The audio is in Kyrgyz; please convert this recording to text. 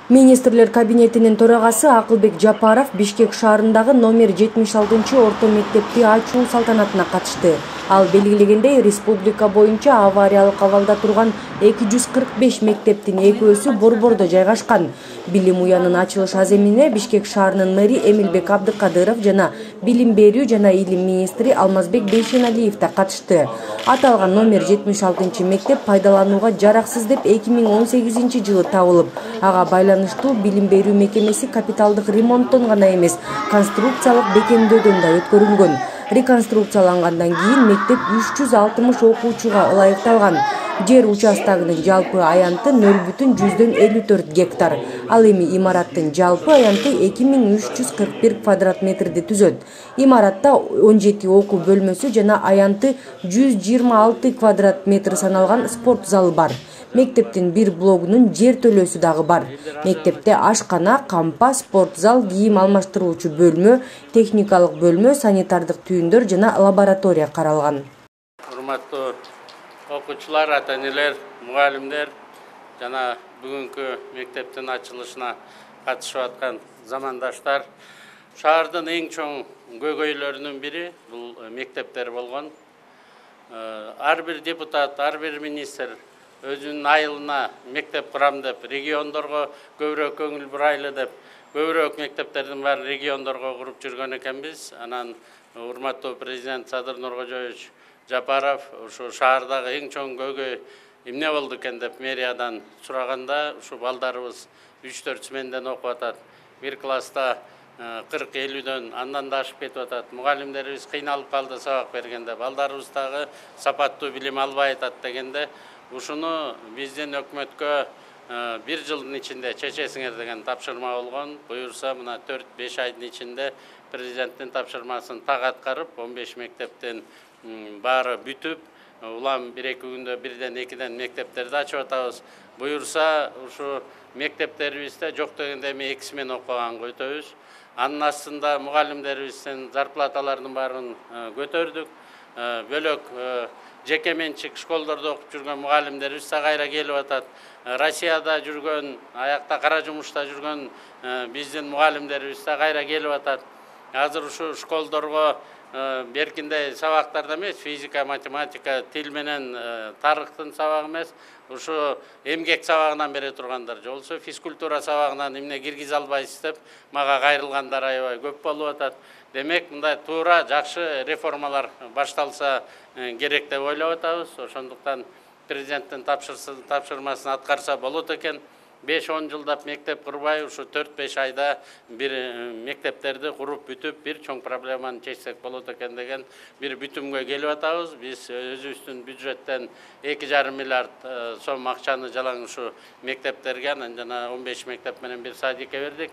Министрлер кабинетинин төрагасы Акылбек Жапаров Бишкек шаарындагы номер 76 орто мектепти ачуу салтанатына катышты. Ал белгилегендей, республика боюнча авариялык абалда турган 245 мектептин экөөсү борбордо жайгашкан. Билим уянынын ачылыш аземине Бишкек шаарынын мэри Эмилбек Абдыкадыров жана билим берүү жана илим министри Алмазбек Бейшеналиев да катышты. Аталган номер 76 мектеп пайдаланууга жараксыз деп 2018 жылы табылып, ага байланыштуу билим берүү мекемеси капиталдык ремонттон гана эмес, конструкциялык бекемдөөдөн да өткөрүлгөн. Реконструкциялангандан кийин мектеп 360 окуучуга ылайыкталган. Жер участогунун жалпы аянты 0,54 гектар. Ал эми имараттын жалпы аянты 2341 квадрат метрди түзөт. Имаратта 17 окуу бөлмөсү жана аянты 126 квадрат метр саналган спорт залы бар. Мектептин бир блогунун жер төлөөсү дагы бар. Мектепте ашкана, кампа, спорт зал, кийим алмаштыруучу бөлмө, техникалык бөлмө, санитардык түйүндөр жана лаборатория каралган. Урматтуу окуучулар, ата-энелер, мугалимдер жана бүгүнкү мектептин ачылышына катышып аткан замандаштар, шаардын эң чоң көйгөйлөрүнүн бири бул мектептер болгон. Ар бир депутат, ар бир министр өзүнүн айылына мектеп курам деп, региондорго көбүрөөк көңүл бурайлы деп, көбүрөөк мектептердин баарын региондорго куруп жүргөн экенбиз. Анан урматтуу президент Садыр Нуркожоевич Жапаров ушу шаардагы эң чоң көйгөй эмне болду экен деп мэриядан сураганда, ушу балдарыбыз 3-4 сменден окуп атат. Бир класста 40-50дөн андан да ашып кетип атат. Мугалимдерибиз кыйналып калды сабак бергенде, балдарыбыз дагы сапаттуу билим албай атат дегенде, ушуну биздин өкмөткө бир жылдын ичинде чечесиңер деген тапшырма болгон. Буюрса мына 4-5 айдын ичинде президенттин тапшырмасын так аткарып, 15 мектептин баары бүтүп, улам 1-2 күндө 1-2ден мектептерди ачып атабыз. Буюрса ушу мектептерибизде жок дегенде эми 2 смен окуганга өтөбүз. Анын астында мугалимдерибиздин зарплаталарынын баарын көтөрдүк. Бөлөк жеке менчик школдордо окуп жүргөн мугалимдерибиз да кайра келип атат. Россияда жүргөн, аякта кара жумушта жүргөн биздин мугалимдерибиз да кайра келип атат. Азыр ушу школдорго беркинде сабактарда эмес, физика, математика, тил менен тарыхтын сабагы эмес, ушу эмгек сабагынан бере тургандар же болсо физкультура сабагынан эмне киргизе албайсыз деп мага кайрылгандар аябай көп болуп атат. Демек, мындай туура жакшы реформалар башталса керек деп ойлоп атабыз. Ошондуктан президенттин тапшырмасын аткарса болот экен. 5-10 жылдап мектеп курбай, ушу 4-5 айда бир мектептерди куруп бүтүп, бир чоң проблеманы чечсек болот экен деген бир бүтүмгө келип атабыз. Биз өзүбүздүн бюджеттен 2,5 миллиард сом акчаны жалаң ушу мектептерге, анан жана 15 мектеп менен бир садикке бердик.